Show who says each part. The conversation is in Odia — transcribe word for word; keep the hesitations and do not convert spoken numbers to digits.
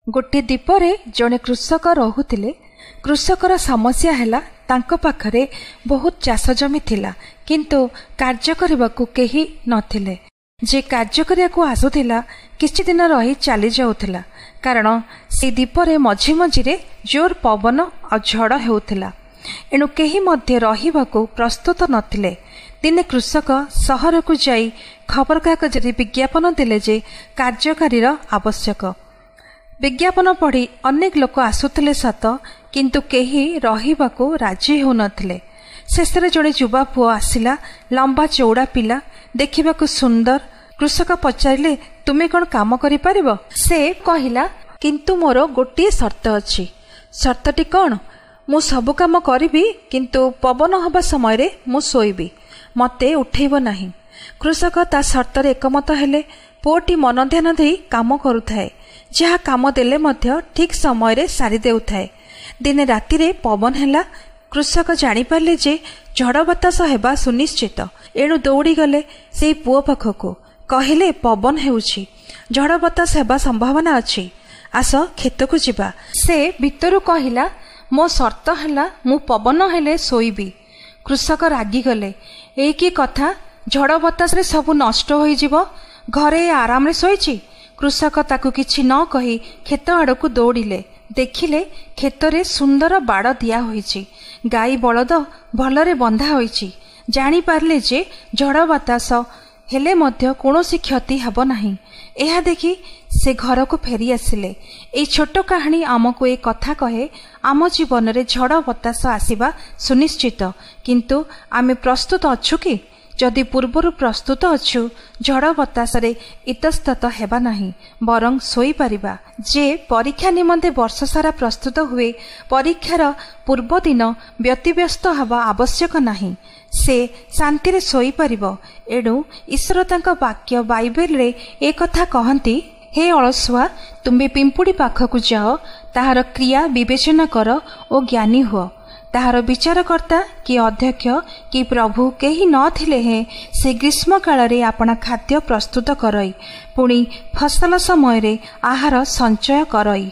Speaker 1: ଗୋଟିଏ ଦ୍ୱୀପରେ ଜଣେ କୃଷକ ରହୁଥିଲେ। କୃଷକର ସମସ୍ୟା ହେଲା, ତାଙ୍କ ପାଖରେ ବହୁତ ଚାଷ ଜମି ଥିଲା, କିନ୍ତୁ କାର୍ଯ୍ୟ କରିବାକୁ କେହି ନଥିଲେ। ଯେ କାର୍ଯ୍ୟ କରିବାକୁ ଆସୁଥିଲା, କିଛି ଦିନ ରହି ଚାଲି ଯାଉଥିଲା, କାରଣ ସେଇ ଦ୍ୱୀପରେ ମଝି ମଝିରେ ଜୋର ପବନ ଆଉ ଝଡ଼ ହେଉଥିଲା। ଏଣୁ କେହି ମଧ୍ୟ ରହିବାକୁ ପ୍ରସ୍ତୁତ ନଥିଲେ। ଦିନେ କୃଷକ ସହରକୁ ଯାଇ ଖବରକାଗଜରେ ବିଜ୍ଞାପନ ଦେଲେ ଯେ କାର୍ଯ୍ୟକାରୀର ଆବଶ୍ୟକ। ବିଜ୍ଞାପନ ପଢ଼ି ଅନେକ ଲୋକ ଆସୁଥିଲେ ସତ, କିନ୍ତୁ କେହି ରହିବାକୁ ରାଜି ହେଉନଥିଲେ। ଶେଷରେ ଜଣେ ଯୁବା ପୁଅ ଆସିଲା। ଲମ୍ବା ଚଉଡ଼ା ପିଲା, ଦେଖିବାକୁ ସୁନ୍ଦର। କୃଷକ ପଚାରିଲେ, ତୁମେ କ'ଣ କାମ କରିପାରିବ? ସେ କହିଲା, କିନ୍ତୁ ମୋର ଗୋଟିଏ ସର୍ତ୍ତ ଅଛି। ସର୍ତ୍ତଟି କ'ଣ? ମୁଁ ସବୁ କାମ କରିବି, କିନ୍ତୁ ପବନ ହେବା ସମୟରେ ମୁଁ ଶୋଇବି, ମୋତେ ଉଠେଇବ ନାହିଁ। କୃଷକ ତା ସର୍ତ୍ତରେ ଏକମତ ହେଲେ। ପୁଅଟି ମନ ଧ୍ୟାନ ଦେଇ କାମ କରୁଥାଏ। ଯାହା କାମ ଦେଲେ ମଧ୍ୟ ଠିକ୍ ସମୟରେ ସାରି ଦେଉଥାଏ। ଦିନେ ରାତିରେ ପବନ ହେଲା। କୃଷକ ଜାଣିପାରିଲେ ଯେ ଝଡ଼ ବତାସ ହେବା ସୁନିଶ୍ଚିତ। ଏଣୁ ଦୌଡ଼ିଗଲେ ସେଇ ପୁଅ ପାଖକୁ। କହିଲେ, ପବନ ହେଉଛି, ଝଡ଼ ବତାସ ହେବା ସମ୍ଭାବନା ଅଛି, ଆସ କ୍ଷେତକୁ ଯିବା। ସେ ଭିତରୁ କହିଲା, ମୋ ସର୍ତ୍ତ ହେଲା ମୁଁ ପବନ ହେଲେ ଶୋଇବି। କୃଷକ ରାଗିଗଲେ, ଏଇ କି କଥା? ଝଡ଼ ବତାସରେ ସବୁ ନଷ୍ଟ ହୋଇଯିବ, ଘରେ ଆରାମରେ ଶୋଇଛି। କୃଷକ ତାକୁ କିଛି ନ କହି କ୍ଷେତ ଆଡ଼କୁ ଦୌଡ଼ିଲେ। ଦେଖିଲେ କ୍ଷେତରେ ସୁନ୍ଦର ବାଡ଼ ଦିଆ ହୋଇଛି, ଗାଈ ବଳଦ ଭଲରେ ବନ୍ଧା ହୋଇଛି। ଜାଣିପାରିଲେ ଯେ ଝଡ଼ ବତାସ ହେଲେ ମଧ୍ୟ କୌଣସି କ୍ଷତି ହେବ ନାହିଁ। ଏହା ଦେଖି ସେ ଘରକୁ ଫେରି ଆସିଲେ। ଏଇ ଛୋଟ କାହାଣୀ ଆମକୁ ଏ କଥା କହେ, ଆମ ଜୀବନରେ ଝଡ଼ ବତାସ ଆସିବା ସୁନିଶ୍ଚିତ, କିନ୍ତୁ ଆମେ ପ୍ରସ୍ତୁତ ଅଛୁ କି? ଯଦି ପୂର୍ବରୁ ପ୍ରସ୍ତୁତ ଅଛୁ, ଝଡ଼ ବତାସରେ ଇତସ୍ତତ ହେବା ନାହିଁ, ବରଂ ଶୋଇପାରିବା। ଯେ ପରୀକ୍ଷା ନିମନ୍ତେ ବର୍ଷସାରା ପ୍ରସ୍ତୁତ ହୁଏ, ପରୀକ୍ଷାର ପୂର୍ବଦିନ ବ୍ୟତିବ୍ୟସ୍ତ ହେବା ଆବଶ୍ୟକ ନାହିଁ, ସେ ଶାନ୍ତିରେ ଶୋଇପାରିବ। ଏଣୁ ଈଶ୍ୱର ତାଙ୍କ ବାକ୍ୟ ବାଇବେଲରେ ଏ କଥା କହନ୍ତି, ହେ ଅଳସୁଆ, ତୁମ୍ଭେ ପିମ୍ପୁଡ଼ି ପାଖକୁ ଯାଅ, ତାହାର କ୍ରିୟା ବିବେଚନା କର ଓ ଜ୍ଞାନୀ ହୁଅ। ତାହାର ବିଚାରକର୍ତ୍ତା କି ଅଧ୍ୟକ୍ଷ କି ପ୍ରଭୁ କେହି ନଥିଲେ ହେଁ ସେ ଗ୍ରୀଷ୍ମ କାଳରେ ଆପଣା ଖାଦ୍ୟ ପ୍ରସ୍ତୁତ କରଇ, ପୁଣି ଫସଲ ସମୟରେ ଆହାର ସଞ୍ଚୟ କରଇ।